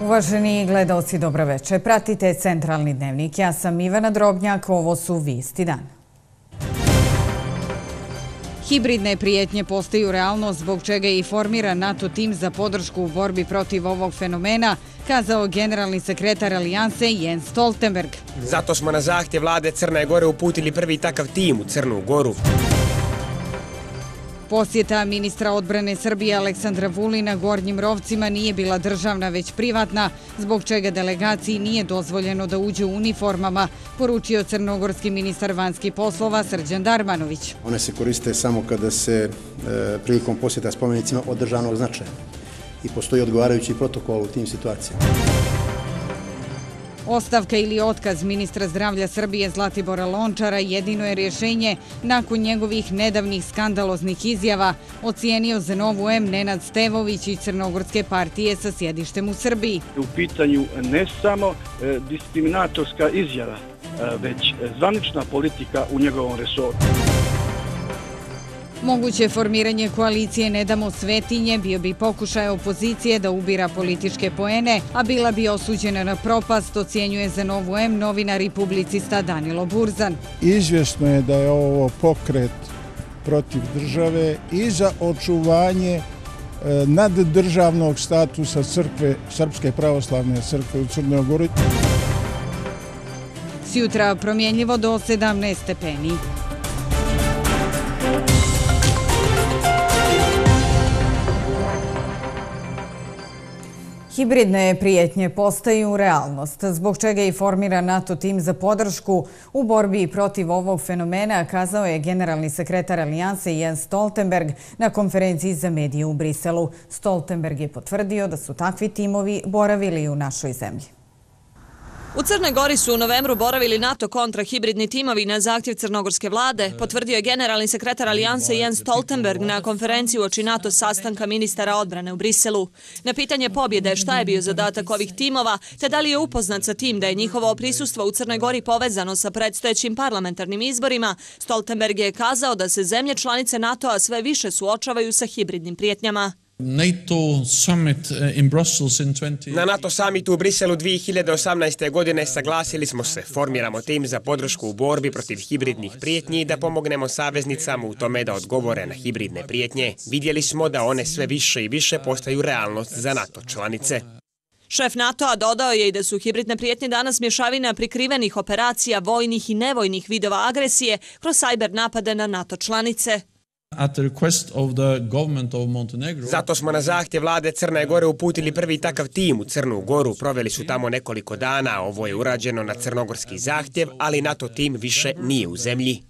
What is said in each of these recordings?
Uvaženi gledaoci, dobro večer. Pratite Centralni dnevnik. Ja sam Ivana Drobnjak, ovo su vijesti dana. Hibridne prijetnje postaju realnost, zbog čega je i formiran NATO tim za podršku u borbi protiv ovog fenomena, kazao generalni sekretar Alijanse Jens Stoltenberg. Zato smo na zahtjev vlade Crne Gore uputili prvi takav tim u Crnu Goru. Posjeta ministra odbrane Srbije Aleksandra Vulina Gornjim Rovcima nije bila državna, već privatna, zbog čega delegaciji nije dozvoljeno da uđe u uniformama, poručio crnogorski ministar vanjskih poslova Srđan Darmanović. One se koriste samo kada se prilikom posjeta spomenicima od državnog značaja i postoji odgovarajući protokol u tim situacijama. Ostavka ili otkaz ministra zdravlja Srbije Zlatibora Lončara jedino je rješenje nakon njegovih nedavnih skandaloznih izjava, ocijenio za Novu M Nenad Stevović iz Crnogorske partije sa sjedištem u Srbiji. U pitanju ne samo diskriminatorska izjava, već zvanična politika u njegovom resoru. Moguće formiranje koalicije Ne damo svetinje bio bi pokušaj opozicije da ubira političke poene, a bila bi osuđena na propast, ocjenjuje za Novu M novinar i publicista Danilo Burzan. Izvjesno je da je ovo pokret protiv države i za očuvanje naddržavnog statusa crkve, Srpske pravoslavne crkve u Crnoj Gori. Sjutra promjenljivo do 17 stepeni. Hibridne prijetnje postaju realnost, zbog čega je i formiran NATO tim za podršku u borbi protiv ovog fenomena, kazao je generalni sekretar Alijanse Jens Stoltenberg na konferenciji za medije u Briselu. Stoltenberg je potvrdio da su takvi timovi boravili u našoj zemlji. U Crnoj Gori su u novembru boravili NATO kontrahibridni timovi na zahtjev crnogorske vlade, potvrdio je generalni sekretar Alijanse Jens Stoltenberg na konferenciji uoči NATO sastanka ministara odbrane u Briselu. Na pitanje pobjede šta je bio zadatak ovih timova, te da li je upoznat sa tim da je njihovo prisustvo u Crnoj Gori povezano sa predstojećim parlamentarnim izborima, Stoltenberg je kazao da se zemlje članice NATO-a sve više suočavaju sa hibridnim prijetnjama. Na NATO samitu u Briselu 2018. godine saglasili smo se, formiramo tim za podršku u borbi protiv hibridnih prijetnji i da pomognemo saveznicama u tome da odgovore na hibridne prijetnje. Vidjeli smo da one sve više i više postaju realnost za NATO članice. Šef NATO-a dodao je i da su hibridne prijetnje danas mješavina prikrivenih operacija, vojnih i nevojnih vidova agresije kroz sajber napade na NATO članice. Zato smo na zahtjev vlade Crne Gore uputili prvi takav tim u Crnu Goru. Proveli su tamo nekoliko dana. Ovo je urađeno na crnogorski zahtjev, ali NATO tim više nije u zemlji.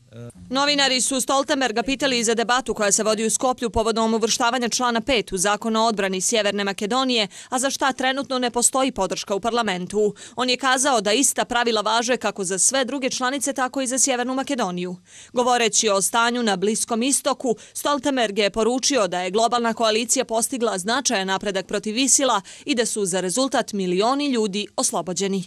Novinari su Stoltenberga pitali i za debatu koja se vodi u Skoplju povodom uvrštavanja člana 5 u Zakon o odbrani Sjeverne Makedonije, a za šta trenutno ne postoji podrška u parlamentu. On je kazao da ista pravila važe kako za sve druge članice, tako i za Sjevernu Makedoniju. Govoreći o stanju na Bliskom istoku, Stoltenberg je poručio da je globalna koalicija postigla značajan napredak protiv ISIL-a i da su za rezultat milioni ljudi oslobođeni.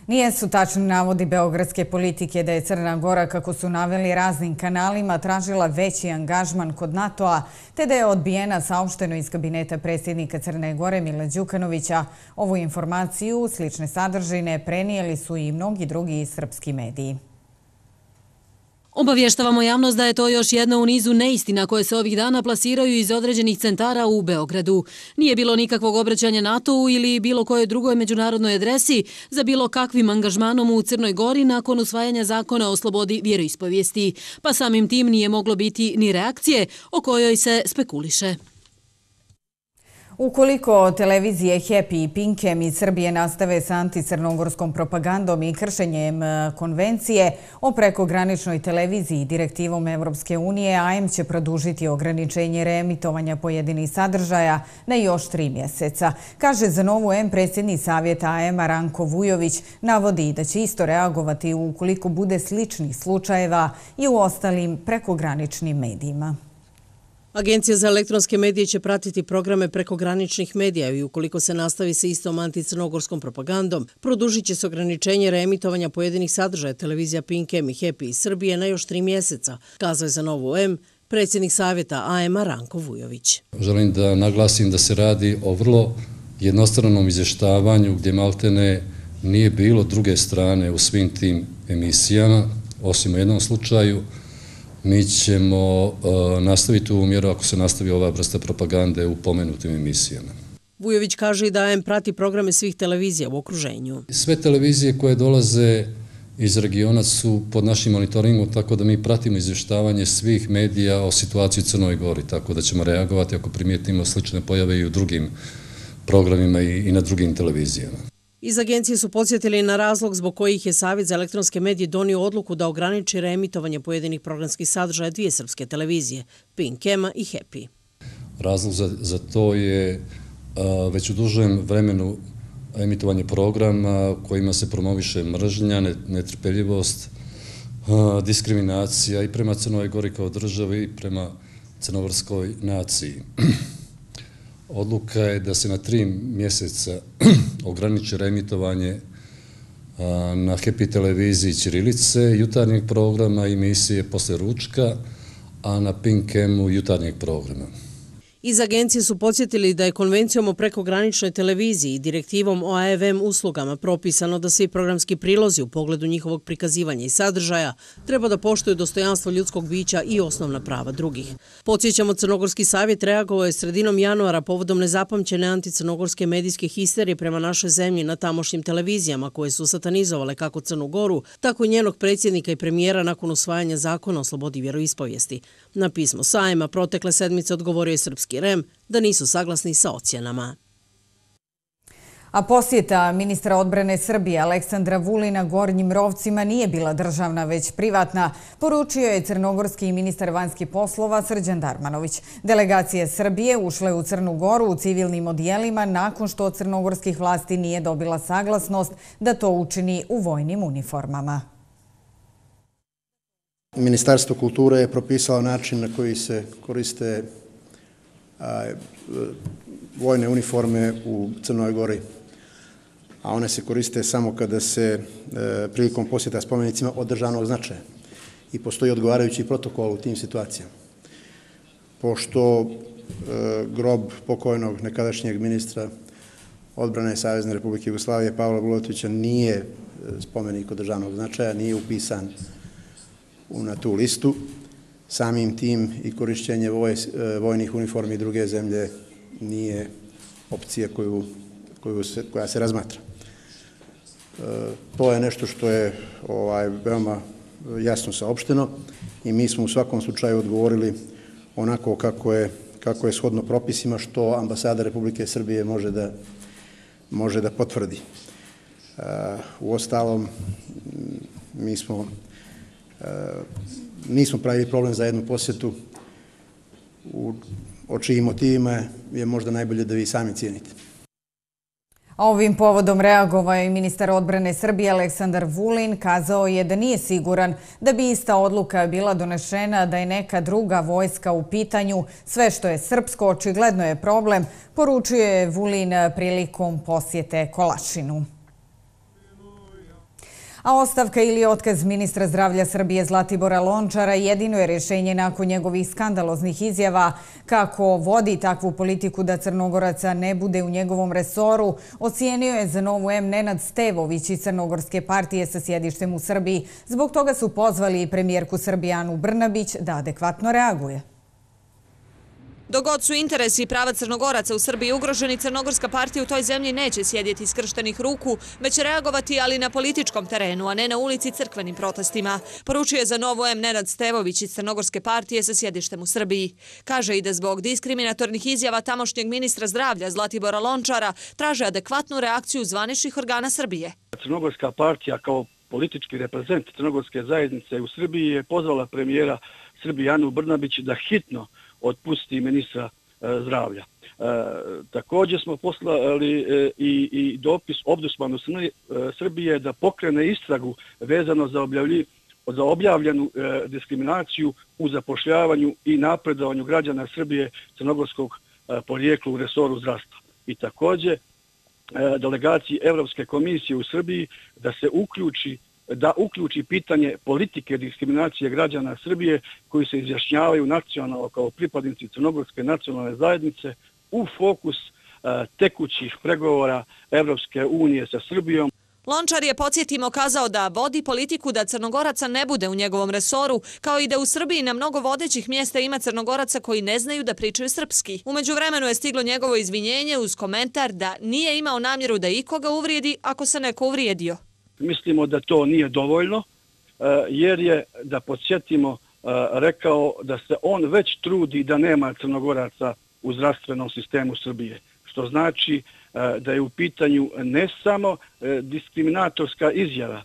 Nijesu tačni navodi beogradske politike da je Crna Gora, kako su naveli raznim kanalima, tražila veći angažman kod NATO-a, te da je odbijena, saopšteno iz kabineta predsjednika Crne Gore Mila Đukanovića. Ovu informaciju, slične sadržine, prenijeli su i mnogi drugi srpski mediji. Obavještavamo javnost da je to još jedna u nizu neistina koje se ovih dana plasiraju iz određenih centara u Beogradu. Nije bilo nikakvog obraćanja NATO-u ili bilo kojoj drugoj međunarodnoj adresi za bilo kakvim angažmanom u Crnoj Gori nakon usvajanja zakona o slobodi vjeroispovijesti, pa samim tim nije moglo biti ni reakcije o kojoj se spekuliše. Ukoliko televizije Happy i Pinkem iz Srbije nastave sa anticrnogorskom propagandom i kršenjem konvencije o prekograničnoj televiziji direktivom Evropske unije, AM će produžiti ograničenje reemitovanja pojedinih sadržaja na još 3 mjeseca. Kaže za Novu M predsjednik savjeta AM-a Ranko Vujović, navodi da će isto reagovati ukoliko bude sličnih slučajeva i u ostalim prekograničnim medijima. Agencija za elektronske medije će pratiti programe prekograničnih medija i ukoliko se nastavi sa istom anticrnogorskom propagandom, produžit će se ograničenje reemitovanja pojedinih sadržaja televizija Pinkem i Happy iz Srbije na još 3 mjeseca, kazao je za Novu M predsjednik savjeta AM-a Ranko Vujović. Želim da naglasim da se radi o vrlo jednostranom izvještavanju gdje maltene nije bilo druge strane u svim tim emisijama, osim u jednom slučaju. Mi ćemo nastaviti ovu mjeru ako se nastavi ova vrsta propagande u pomenutim emisijama. Vujović kaže i da AM prati programe svih televizija u okruženju. Sve televizije koje dolaze iz regiona su pod našim monitoringom, tako da mi pratimo izvještavanje svih medija o situaciji u Crnoj Gori, tako da ćemo reagovati ako primijetimo slične pojave i u drugim programima i na drugim televizijama. Iz agencije su podsjetili na razlog zbog kojih je Savjet za elektronske medije donio odluku da ograniči reemitovanje pojedinih programskih sadržaja dvije srpske televizije, Pink Ema i Happy. Razlog za to je već u dužem vremenu emitovanje programa kojima se promoviše mržnja, netrpeljivost, diskriminacija i prema Crnoj Gori kao državi i prema crnogorskoj naciji. Odluka je da se na 3 mjeseca ograniči reemitovanje na Happy televiziji ćirilice, jutarnjeg programa i emisije posle ručka, a na Pink Emu jutarnjeg programa. Iz agencije su podsjetili da je konvencijom o prekograničnoj televiziji i direktivom o AVM uslugama propisano da svi programski prilozi u pogledu njihovog prikazivanja i sadržaja treba da poštuju dostojanstvo ljudskog bića i osnovna prava drugih. Podsjećamo, Crnogorski savjet reagovao je sredinom januara povodom nezapamćene anticrnogorske medijske histerije prema našoj zemlji na tamošnjim televizijama koje su satanizovale kako Crnu Goru, tako i njenog predsjednika i premijera nakon usvajanja zakona o slobodi vjeroispovijesti. Na pismo sajma protekle sedmice odgovorio je srpski REM da nisu saglasni sa ocjenama. A posjeta ministra odbrane Srbije Aleksandra Vulina Gornjim Rovcima nije bila državna, već privatna, poručio je crnogorski ministar vanjskih poslova Srđan Darmanović. Delegacije Srbije ušle u Crnu Goru u civilnim odjelima nakon što od crnogorskih vlasti nije dobila saglasnost da to učini u vojnim uniformama. Ministarstvo kulture je propisalo način na koji se koriste vojne uniforme u Crnoj Gori, a one se koriste samo kada se prilikom posjeta spomenicima od državnog značaja i postoji odgovarajući protokol u tim situacijama. Pošto grob pokojnog nekadašnjeg ministra odbrane Savezne Republike Jugoslavije Pavla Bulatovića nije spomenik od državnog značaja, nije upisan na tu listu, samim tim i korišćenje vojnih uniformi druge zemlje nije opcija koja se razmatra. To je nešto što je veoma jasno saopšteno i mi smo u svakom slučaju odgovorili onako kako je shodno propisima, što ambasada Republike Srbije može da potvrdi. Uostalom, mi nismo pravili problem za jednu posjetu, o čijim motivima je možda najbolje da vi sami cijenite. A ovim povodom reagovao je ministar odbrane Srbije Aleksandar Vulin. Kazao je da nije siguran da bi ista odluka bila donešena da je neka druga vojska u pitanju. Sve što je srpsko očigledno je problem, poručio je Vulin prilikom posjete Kolašinu. A ostavka ili otkaz ministra zdravlja Srbije Zlatibora Lončara jedino je rješenje nakon njegovih skandaloznih izjava kako vodi takvu politiku da Crnogoraca ne bude u njegovom resoru, ocijenio je za Novu M Nenad Stevović iz Crnogorske partije sa sjedištem u Srbiji. Zbog toga su pozvali premijerku Srbije Anu Brnabić da adekvatno reaguje. Dok god su interesi i prava Crnogoraca u Srbiji ugroženi, Crnogorska partija u toj zemlji neće sjedjeti skrštenih ruku, već reagovati, ali na političkom terenu, a ne na ulici crkvenim protestima. Poručio je za Novu M Nenad Stevović iz Crnogorske partije sa sjedištem u Srbiji. Kaže i da zbog diskriminatornih izjava tamošnjeg ministra zdravlja Zlatibora Lončara traže adekvatnu reakciju zvaničnih organa Srbije. Crnogorska partija kao politički reprezent Crnogorske zajednice u Srbiji je pozvala premijera Srbije Anu Brnabić da hitno otpusti ministra zdravlja. Također smo poslali i dopis Ombudsmanu Srbije da pokrene istragu vezano za objavljenu diskriminaciju u zapošljavanju i napredovanju građana Srbije crnogorskog porijekla u resoru zdravstva. I također delegaciji Evropske komisije u Srbiji da uključi pitanje politike diskriminacije građana Srbije koji se izjašnjavaju nacionalno kao pripadnici Crnogorske nacionalne zajednice u fokus tekućih pregovora Evropske unije sa Srbijom. Lončar je, podsjetimo, kazao da vodi politiku da Crnogoraca ne bude u njegovom resoru, kao i da u Srbiji na mnogo vodećih mjesta ima Crnogoraca koji ne znaju da pričaju srpski. U međuvremenu je stiglo njegovo izvinjenje uz komentar da nije imao namjeru da ikoga uvrijedi ako se neko uvrijedio. Mislimo da to nije dovoljno, jer je, da podsjetimo, rekao da se on već trudi da nema Crnogoraca u zdravstvenom sistemu Srbije, što znači da je u pitanju ne samo diskriminatorska izjava,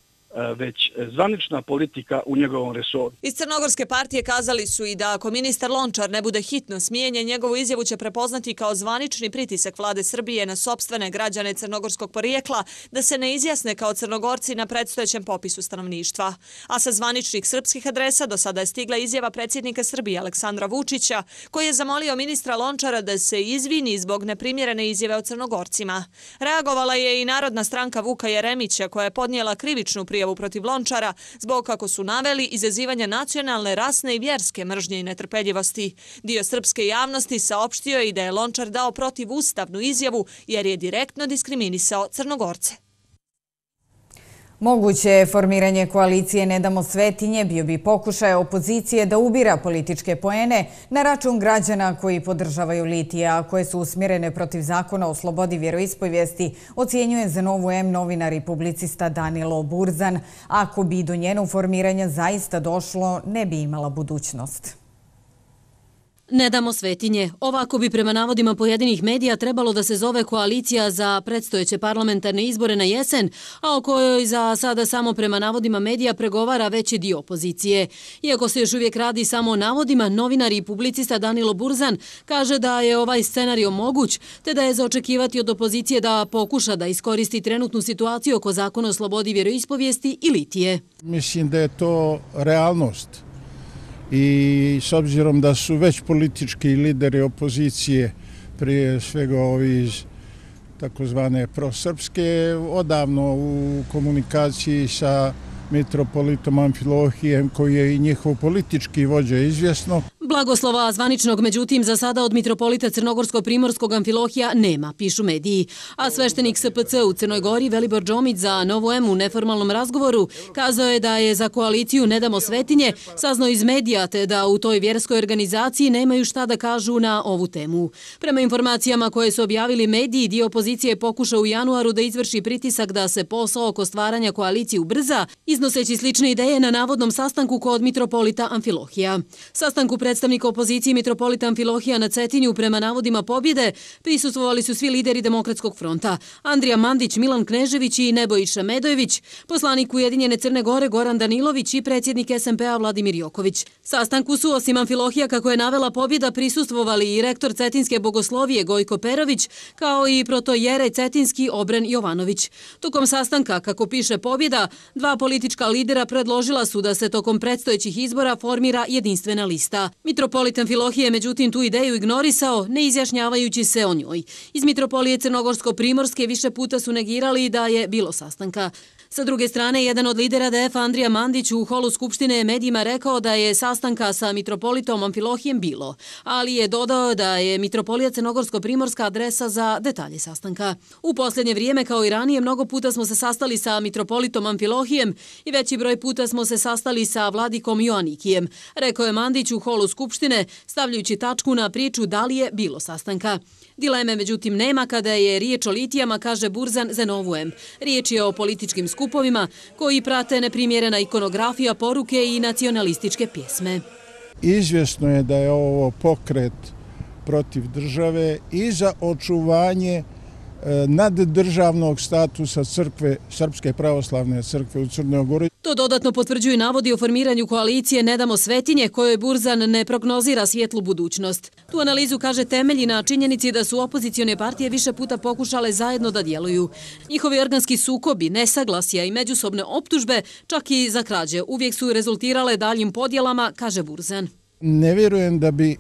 već zvanična politika u njegovom resoru. Iz Crnogorske partije kazali su i da ako ministar Lončar ne bude hitno smijenjen, njegovu izjavu će prepoznati kao zvanični pritisak vlade Srbije na sopstvene građane crnogorskog porijekla da se ne izjasne kao Crnogorci na predstojećem popisu stanovništva. A sa zvaničnih srpskih adresa do sada je stigla izjava predsjednika Srbije Aleksandra Vučića, koji je zamolio ministra Lončara da se izvini zbog neprimjerene izjave o Crnogorcima. Reagovala je i Narodna stranka Vuka Jeremića, koja je podnijela krivičnu prijavu protiv Lončara zbog, kako su naveli, izazivanja nacionalne, rasne i vjerske mržnje i netrpeljivosti. Dio srpske javnosti saopštio je i da je Lončar dao protivustavnu izjavu jer je direktno diskriminisao Crnogorce. Moguće formiranje koalicije Ne damo Svetinje bio bi pokušaj opozicije da ubira političke poene na račun građana koji podržavaju litija, a koje su usmjerene protiv zakona o slobodi vjeroispovijesti, ocjenjuje za Novu M novinar i publicista Danilo Burzan. Ako bi do njenog formiranja zaista došlo, ne bi imala budućnost. Ne damo Svetinje. Ovako bi prema navodima pojedinih medija trebalo da se zove koalicija za predstojeće parlamentarne izbore na jesen, a o kojoj za sada samo prema navodima medija pregovara veći dio opozicije. Iako se još uvijek radi samo o navodima, novinar i publicista Danilo Burzan kaže da je ovaj scenario moguć, te da je za očekivati od opozicije da pokuša da iskoristi trenutnu situaciju oko zakona o slobodi vjeroispovijesti i litije. Mislim da je to realnost. I s obzirom da su već politički lideri opozicije, prije svega ovi iz takozvane prosrpske, odavno u komunikaciji sa mitropolitom Amfilohijem, koji je i njihov politički vođa, izvjesno. Blagoslova zvaničnog, međutim, za sada od mitropolita Crnogorsko-Primorskog Amfilohija nema, pišu mediji. A sveštenik SPC u Crnoj Gori Velibor Džomić za Novu M u neformalnom razgovoru kazao je da je za koaliciju Ne damo Svetinje saznao iz medija, te da u toj vjerskoj organizaciji nemaju šta da kažu na ovu temu. Prema informacijama koje su objavili mediji, dio opozicije je pokušao u januaru da izvrši pritisak da se posao oko stvaranja koalicije ubrza, iznoseći slične ideje na navodnom sastanku kod mitropolita Amfilohija. Sastanku predstavnika opozicije mitropolita Amfilohija na Cetinju prema navodima pobjede prisustvovali su svi lideri Demokratskog fronta: Andrija Mandić, Milan Knežević i Nebojša Medojević, poslanik Ujedinjene Crne Gore Goran Danilović i predsjednik SMP-a Vladimir Joković. Sastanku su, osim Amfilohija, kako je navela pobjeda, prisustvovali i rektor Cetinske bogoslovije Gojko Perović, kao i protojerej Cetinski Obren Jovanović. Tokom sastanka, kako piše pobjeda, dva politička lidera predložila su da se tokom predstojećih izbora formira jedinstvena lista. Mitropolit Amfilohije je međutim tu ideju ignorisao, ne izjašnjavajući se o njoj. Iz mitropolije Crnogorsko-Primorske više puta su negirali da je bilo sastanka. Sa druge strane, jedan od lidera DF Andrija Mandić u holu Skupštine je medijima rekao da je sastanka sa mitropolitom Amfilohijem bilo, ali je dodao da je mitropolija Crnogorsko-Primorska adresa za detalje sastanka. U posljednje vrijeme, kao i ranije, mnogo puta smo se sastali sa mitropolitom Amfilohijem i veći broj puta smo se sastali sa vladikom Joanikijem, rekao je Mandić u holu Skupštine, stavljajući tačku na priču da li je bilo sastanka. Dileme, međutim, nema kada je riječ o litijama, kaže Burzan za Novu M. Riječ je o političkim skupovima koji prate neprimjerena ikonografija, poruke i nacionalističke pjesme. Izvjesno je da je ovo pokret protiv države i za očuvanje naddržavnog statusa crkve, Srpske pravoslavne crkve u Crnoj Gori. To dodatno potvrđuju navodi o formiranju koalicije Ne damo Svetinje, kojoj Burzan ne prognozira svjetlu budućnost. Tu analizu, kaže, temelji na činjenici da su opozicione partije više puta pokušale zajedno da djeluju. Njihovi organski sukobi, nesaglasja i međusobne optužbe, čak i za krađe, uvijek su rezultirale daljim podjelama, kaže Burzan. Ne vjerujem da bi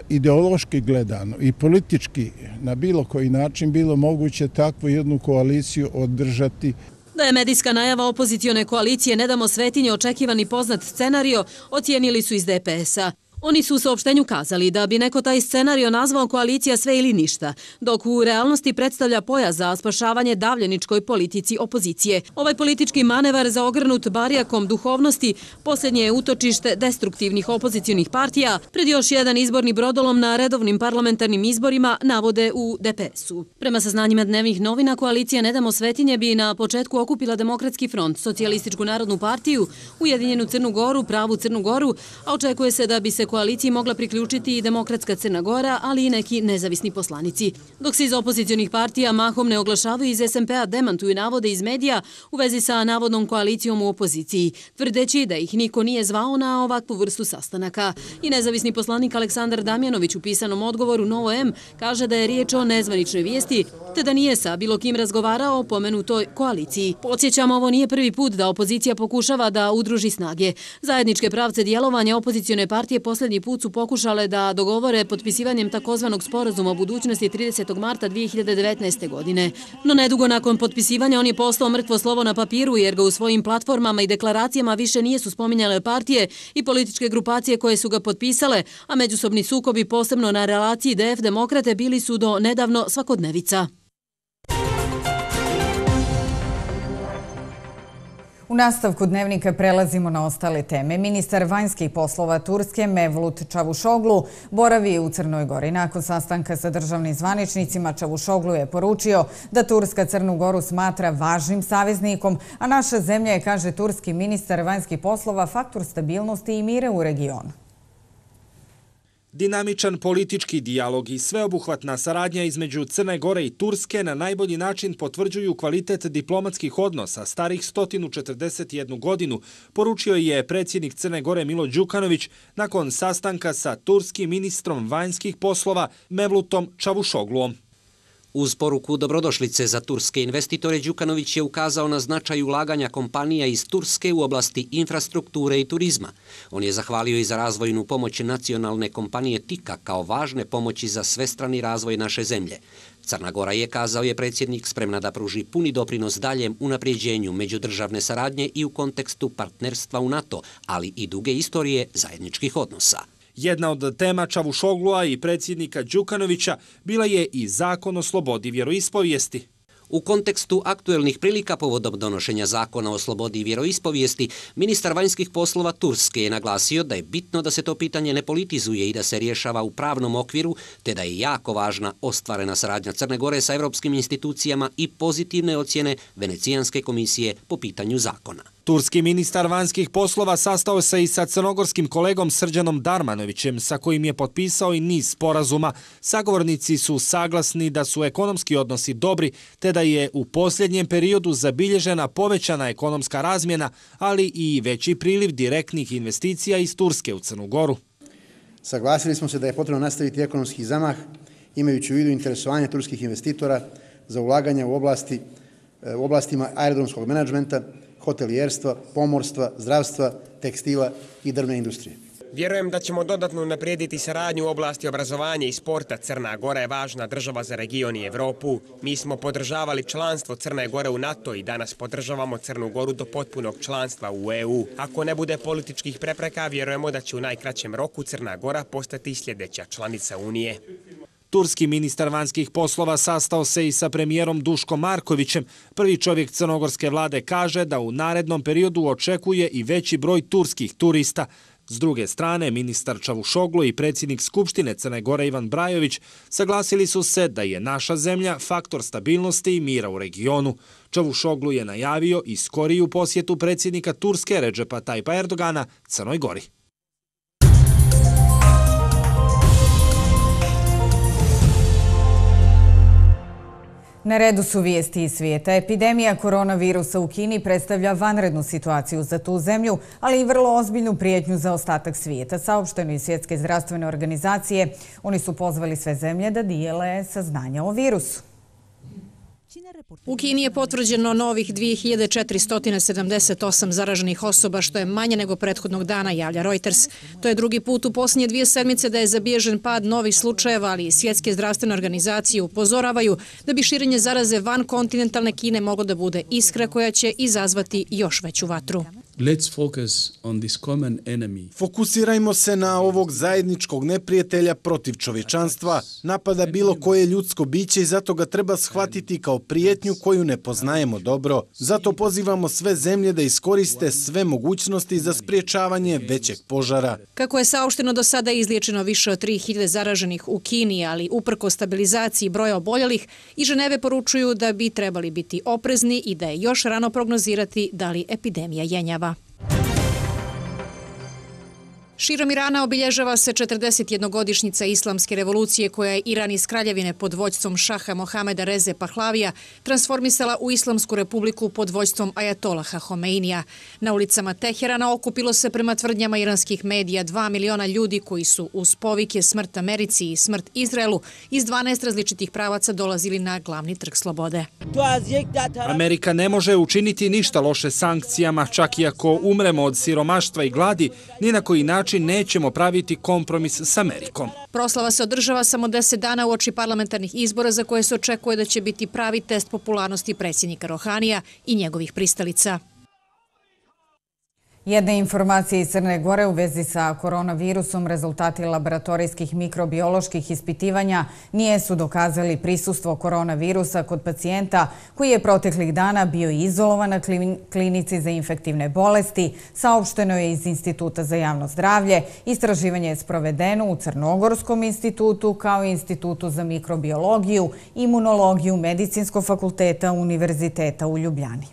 ideološki gledano i politički na bilo koji način bilo moguće takvu jednu koaliciju održati. Da je medijska najava opozicione koalicije Ne damo Svetinje očekivani poznat scenario, ocijenili su iz DPS-a. Oni su u saopštenju kazali da bi neko taj scenario nazvao koalicija sve ili ništa, dok u realnosti predstavlja pojas za spašavanje davljeničkoj politici opozicije. Ovaj politički manevar zaogrnut barijakom duhovnosti posljednje je utočište destruktivnih opozicionih partija pred još jedan izborni brodolom na redovnim parlamentarnim izborima, navode u DPS-u. Prema saznanjima dnevnih novina, koalicija Ne damo svetinje bi na početku okupila Demokratski front, Socijalističku narodnu partiju, Ujedinjenu Crnu Goru, Pravu Crnu Goru, a očekuje se da bi se koaliciji mogla priključiti i Demokratska Crna Gora, ali i neki nezavisni poslanici. Dok se iz opozicionih partija mahom ne oglašavaju, iz SMP-a demantuju navode iz medija u vezi sa navodnom koalicijom u opoziciji, tvrdeći da ih niko nije zvao na ovakvu vrstu sastanaka. I nezavisni poslanik Aleksandar Damjanović u pisanom odgovoru Novo M kaže da je riječ o nezvaničnoj vijesti, te da nije sa bilo kim razgovarao o pomenutoj koaliciji. Podsjećamo, ovo nije prvi put da opozicija pokušava da udruži snage. Zajedničke pravce djelovanja opozicione partije posljednji put su pokušale da dogovore potpisivanjem takozvanog sporazuma o budućnosti 30. marta 2019. godine. No nedugo nakon potpisivanja on je postao mrtvo slovo na papiru jer ga u svojim platformama i deklaracijama više nisu spominjale partije i političke grupacije koje su ga potpisale, a međusobni sukobi posebno na relaciji DF-Demokrate bili su do nedavno svakodnevica. U nastavku dnevnika prelazimo na ostale teme. Ministar vanjskih poslova Turske Mevlut Čavuşoglu boravi u Crnoj Gori. Nakon sastanka sa državnim zvaničnicima, Čavuşoglu je poručio da Turska Crnu Goru smatra važnim saveznikom, a naša zemlja je, kaže turski ministar vanjskih poslova, faktor stabilnosti i mira u regionu. Dinamičan politički dijalog i sveobuhvatna saradnja između Crne Gore i Turske na najbolji način potvrđuju kvalitet diplomatskih odnosa starih 141 godinu, poručio je predsjednik Crne Gore Milo Đukanović nakon sastanka sa turskim ministrom vanjskih poslova Mevlutom Čavuşogluom. Uz poruku dobrodošlice za turske investitore, Đukanović je ukazao na značaj ulaganja kompanija iz Turske u oblasti infrastrukture i turizma. On je zahvalio i za razvojnu pomoć nacionalne kompanije TIKA kao važne pomoći za svestrani razvoj naše zemlje. Crna Gora je, kazao je predsjednik, spremna da pruži puni doprinos daljem unapređenju međudržavne saradnje i u kontekstu partnerstva u NATO, ali i duge istorije zajedničkih odnosa. Jedna od tema Čavuşoglua i predsjednika Đukanovića bila je i zakon o slobodi vjeroispovijesti. U kontekstu aktuelnih prilika povodom donošenja zakona o slobodi vjeroispovijesti, ministar vanjskih poslova Turske je naglasio da je bitno da se to pitanje ne politizuje i da se rješava u pravnom okviru, te da je jako važna ostvarena saradnja Crne Gore sa evropskim institucijama i pozitivne ocjene Venecijanske komisije po pitanju zakona. Turski ministar vanjskih poslova sastao se i sa crnogorskim kolegom Srđanom Darmanovićem, sa kojim je potpisao i niz sporazuma. Sagovornici su saglasni da su ekonomski odnosi dobri, te da je u posljednjem periodu zabilježena povećana ekonomska razmjena, ali i veći priliv direktnih investicija iz Turske u Crnu Goru. Saglasili smo se da je potrebno nastaviti ekonomski zamah, imajući u vidu interesovanje turskih investitora za ulaganje u oblastima aerodromskog menadžmenta, hotelijerstva, pomorstva, zdravstva, tekstila i drvne industrije. Vjerujem da ćemo dodatno unaprijediti saradnju u oblasti obrazovanja i sporta. Crna Gora je važna država za region i Evropu. Mi smo podržavali članstvo Crne Gore u NATO i danas podržavamo Crnu Goru do potpunog članstva u EU. Ako ne bude političkih prepreka, vjerujemo da će u najkraćem roku Crna Gora postati sljedeća članica Unije. Turski ministar vanjskih poslova sastao se i sa premijerom Duškom Markovićem. Prvi čovjek crnogorske vlade kaže da u narednom periodu očekuje i veći broj turskih turista. S druge strane, ministar Čavuşoglu i predsjednik Skupštine Crne Gore Ivan Brajović saglasili su se da je naša zemlja faktor stabilnosti i mira u regionu. Čavuşoglu je najavio i skoriju posjetu predsjednika Turske Redžepa Tajpa Erdogana Crnoj Gori. Na redu su vijesti iz svijeta. Epidemija koronavirusa u Kini predstavlja vanrednu situaciju za tu zemlju, ali i vrlo ozbiljnu prijetnju za ostatak svijeta. Saopšteno iz Svjetske zdravstvene organizacije, oni su pozvali sve zemlje da dijele saznanja o virusu. U Kini je potvrđeno novih 2478 zaraženih osoba, što je manje nego prethodnog dana, javlja Reuters. To je drugi put u posljednje 2 sedmice da je zabilježen pad novih slučajeva, ali i Svjetske zdravstvene organizacije upozoravaju da bi širenje zaraze van kontinentalne Kine moglo da bude iskra koja će izazvati još veću vatru. Fokusirajmo se na ovog zajedničkog neprijatelja protiv čovječanstva. Napada bilo koje ljudsko biće i zato ga treba shvatiti kao prijetnju koju ne poznajemo dobro. Zato pozivamo sve zemlje da iskoriste sve mogućnosti za spriječavanje većeg požara. Kako je saopšteno, do sada je izliječeno više od 3000 zaraženih u Kini, ali uprko stabilizaciji broja oboljelih, i Ženeve poručuju da bi trebali biti oprezni i da je još rano prognozirati da li epidemija jenjava. Širom Irana obilježava se 41-godišnjica islamske revolucije koja je Iran iz kraljevine pod vođstvom šaha Mohameda Reze Pahlavija transformisala u Islamsku republiku pod vođstvom ajatolaha Homeinija. Na ulicama Teherana okupilo se prema tvrdnjama iranskih medija 2 miliona ljudi koji su uz povike smrt Americi i smrt Izraelu iz 12 različitih pravaca dolazili na glavni trg slobode. Amerika ne može učiniti ništa loše sankcijama, čak i ako umremo od siromaštva i gladi, ni na koji način nećemo praviti kompromis s Amerikom. Proslava se održava samo 10 dana uoči parlamentarnih izbora za koje se očekuje da će biti pravi test popularnosti predsjednika Rohanija i njegovih pristalica. Jedne informacije iz Crne Gore u vezi sa koronavirusom, rezultati laboratorijskih mikrobioloških ispitivanja nisu dokazali prisustvo koronavirusa kod pacijenta koji je proteklih dana bio izolovan na klinici za infektivne bolesti, saopšteno je iz Instituta za javno zdravlje. Istraživanje je sprovedeno u Crnogorskom institutu kao i Institutu za mikrobiologiju i imunologiju Medicinskog fakulteta Univerziteta u Ljubljani.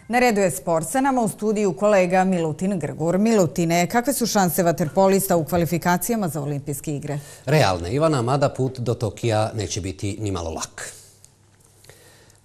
Na redu je sport. Sa nama u studiju kolega Milutin Grgur. Milutine, kakve su šanse vaterpolista u kvalifikacijama za olimpijske igre? Realne, Ivana, mada put do Tokija neće biti ni malo lak.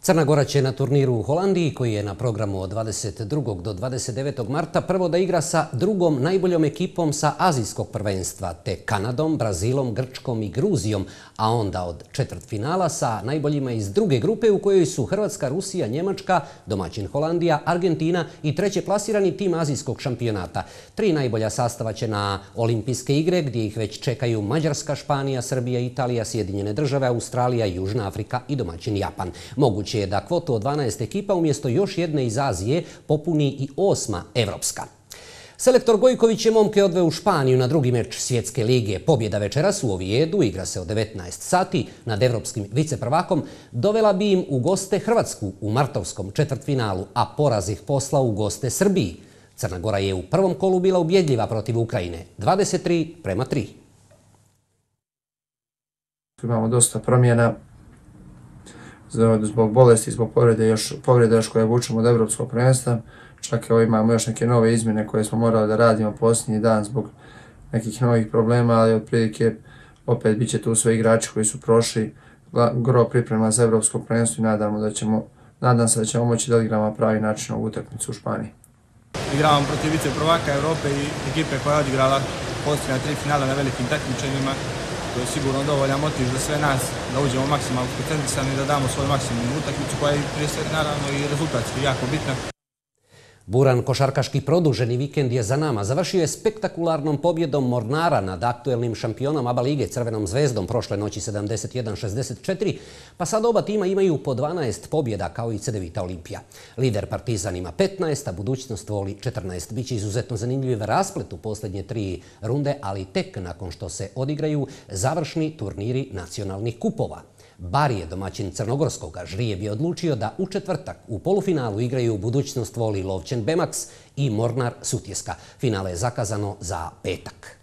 Crna Gora će na turniru u Holandiji, koji je na programu od 22. do 29. marta, prvo da igra sa drugom najboljom ekipom sa azijskog prvenstva, te Kanadom, Brazilom, Grčkom i Gruzijom, a onda od četvrtfinala sa najboljima iz druge grupe u kojoj su Hrvatska, Rusija, Njemačka, domaćin Holandija, Argentina i treće plasirani tim azijskog šampionata. 3 najbolja sastava će na olimpijske igre, gdje ih već čekaju Mađarska, Španija, Srbija, Italija, Sjedinjene države, Australija, Južna Afrika i domaćin Japan. Moguće je da kvotu od 12 ekipa umjesto još jedne iz Azije popuni i 8. evropska. Selektor Gojković je momke odveo u Španiju na drugi meč Svjetske lige. Pobjeda večeras u Ovijedu, igra se od 19 sati, nad evropskim viceprvakom, dovela bi im u goste Hrvatsku u martovskom četvrtfinalu, a poraz ih poslao u goste Srbiji. Crna Gora je u prvom kolu bila ubjedljiva protiv Ukrajine, 23-3. Imamo dosta promjena zbog bolesti, zbog povrede još koje vučemo od evropskog prvenstva. Čak imamo još neke nove izmjene koje smo morali da radimo posljednji dan zbog nekih novih problema, ali otprilike opet bit će tu sve igrači koji su prošli gro priprema za evropsko prvenstvo i nadam se da ćemo moći da odigramo pravi način ovu utakmicu u Španiji. Igravamo protiv viceprvaka Evrope i ekipe koja je odigrala posljednja 3 finala na velikim takmičenjima. To je sigurno dovoljan motiv za sve nas da uđemo maksimalno koncentrisani i da damo svoj maksimum u utakmicu koja je prije svega naravno i rezultatski jako bitna. Buran košarkaški produženi vikend je za nama. Završio je spektakularnom pobjedom Mornara nad aktuelnim šampionom ABA lige Crvenom zvezdom prošle noći 71-64, pa sad oba tima imaju po 12 pobjeda kao i Cedevita Olimpija. Lider Partizan ima 15, a budućnost voli 14. Biće izuzetno zanimljiv rasplet u posljednje 3 runde, ali tek nakon što se odigraju završni turniri nacionalnih kupova. Barije, domaćin crnogorskog Žrije, bi odlučio da u četvrtak u polufinalu igraju budućnost voli Lovćen Bemaks i Mornar Sutjeska. Finale je zakazano za petak.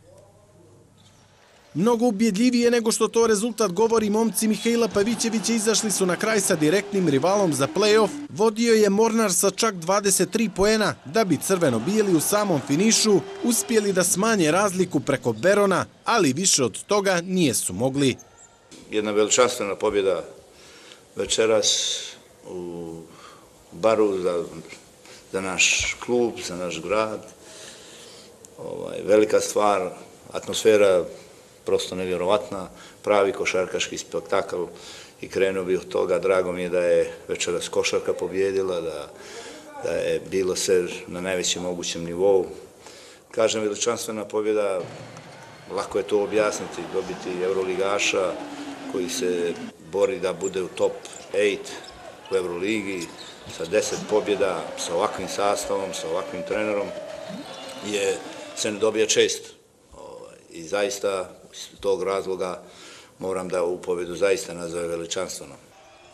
Mnogo ubjedljivije nego što to rezultat govori, momci Mihajla Pavićevića izašli su na kraj sa direktnim rivalom za play-off. Vodio je Mornar sa čak 23 poena, da bi crveno-bijeli u samom finišu uspjeli da smanje razliku preko Berona, ali više od toga nijesu mogli. Jedna veličanstvena pobjeda večeras u Baru za naš klub, za naš grad. Velika stvar, atmosfera prosto nevjerovatna, pravi košarkaški spektakl i krenuo bi od toga. Drago mi je da je večeras košarka pobjedila, da je bilo sve na najvećem mogućem nivou. Kažem, veličanstvena pobjeda, lako je to objasniti, dobiti Euroligaša koji se bori da bude u top 8 u Euroligi sa 10 pobjeda, sa ovakvim sastavom, sa ovakvim trenerom, se ne dobija često. I zaista iz tog razloga moram da ovu pobjedu zaista nazove veličanstveno.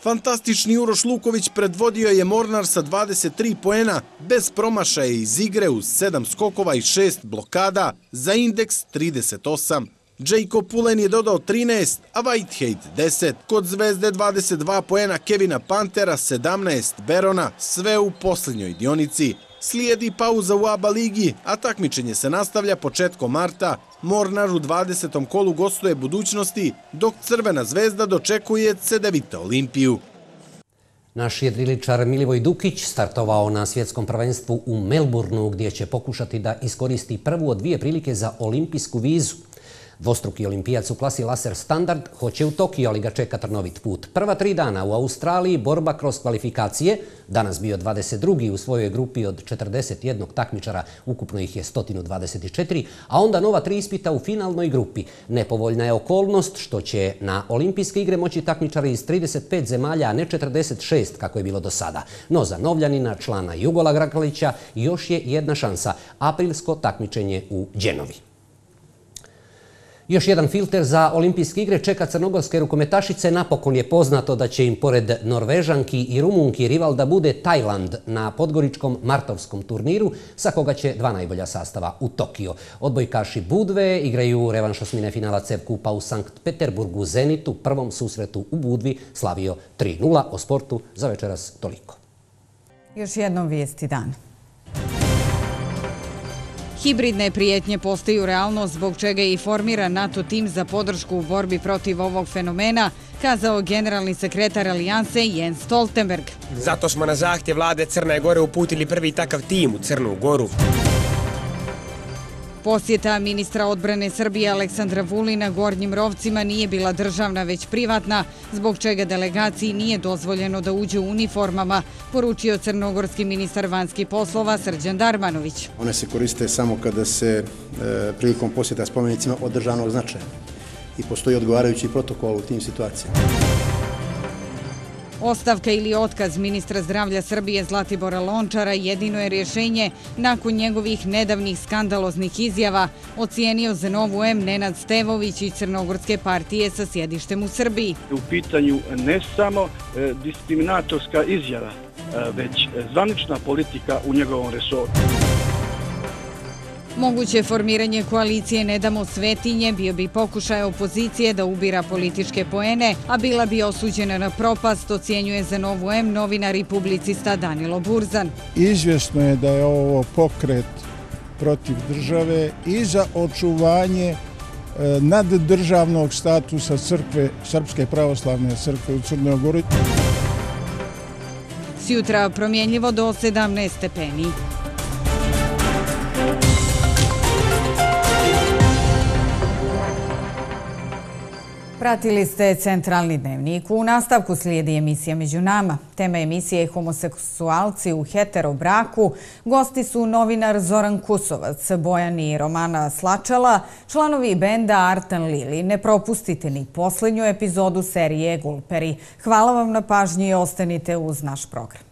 Fantastični Uroš Luković predvodio je Mornar sa 23 poena, bez promašaja iz igre uz 7 skokova i 6 blokada za indeks 38. Jacob Pulen je dodao 13, a Whitehead 10. Kod Zvezde 22 poena Kevina Pantera, 17 Berona, sve u posljednjoj dionici. Slijedi pauza u ABA ligi, a takmičenje se nastavlja početkom marta. Mornar u 20. kolu gostuje Budućnosti, dok Crvena zvezda dočekuje Cedevita Olimpiju. Naš jedriličar Milivoj Dukić startovao na svjetskom prvenstvu u Melbourneu, gdje će pokušati da iskoristi prvu od 2 prilike za olimpijsku vizu. Dvostruki olimpijac u klasi laser standard hoće u Tokio, ali ga čeka trnovit put. Prva 3 dana u Australiji borba kroz kvalifikacije, danas bio 22. u svojoj grupi od 41 takmičara, ukupno ih je 124, a onda nova 3 ispita u finalnoj grupi. Nepovoljna je okolnost što će na olimpijske igre moći takmičari iz 35 zemalja, a ne 46 kako je bilo do sada. No za Novljanina, člana Jugola Grakalića, još je jedna šansa, aprilsko takmičenje u Đenovi. Još jedan filter za olimpijske igre čeka crnogorske rukometašice. Napokon je poznato da će im pored Norvežanki i Rumunki rival da bude Tajland na podgoričkom martovskom turniru, sa koga će 2 najbolja sastava u Tokio. Odbojkaši Budve igraju revanš osmine finala CEV kupa u Sankt Peterburgu. Zenit u prvom susretu u Budvi slavio 3:0. O sportu za večeras toliko. Još jednom vijesti dan. Hibridne prijetnje postaju realnost, zbog čega je i formiran NATO tim za podršku u borbi protiv ovog fenomena, kazao generalni sekretar Alijanse Jens Stoltenberg. Zato smo na zahtjev vlade Crne Gore uputili prvi takav tim u Crnu Goru. Posjeta ministra odbrane Srbije Aleksandra Vulina Gornjim Rovcima nije bila državna, već privatna, zbog čega delegaciji nije dozvoljeno da uđe u uniformama, poručio crnogorski ministar vanjskih poslova Srđan Darmanović. One se koriste samo kada se prilikom posjeta spomenicima od državnog značaja i postoji odgovarajući protokol u tim situacijama. Ostavka ili otkaz ministra zdravlja Srbije Zlatibora Lončara jedino je rješenje nakon njegovih nedavnih skandaloznih izjava, ocijenio za Novu M Nenad Stevović iz Crnogorske partije sa sjedištem u Srbiji. U pitanju ne samo diskriminatorska izjava, već zvanična politika u njegovom resoru. Moguće formiranje koalicije Ne damo svetinje bio bi pokušaj opozicije da ubira političke poene, a bila bi osuđena na propast, ocjenjuje za Novu M novinar i publicista Danilo Burzan. Izvjesno je da je ovo pokret protiv države i za očuvanje naddržavnog statusa crkve, Srpske pravoslavne crkve u Crnoj Gori. Sjutra promjenljivo do 17 stepeni. Pratili ste Centralni dnevnik. U nastavku slijedi emisija Među nama. Tema emisije je homoseksualci u heterobraku. Gosti su novinar Zoran Kusovac, Bojan i Romana Slačala, članovi benda Artan Lili. Ne propustite ni posljednju epizodu serije Gulperi. Hvala vam na pažnji i ostanite uz naš program.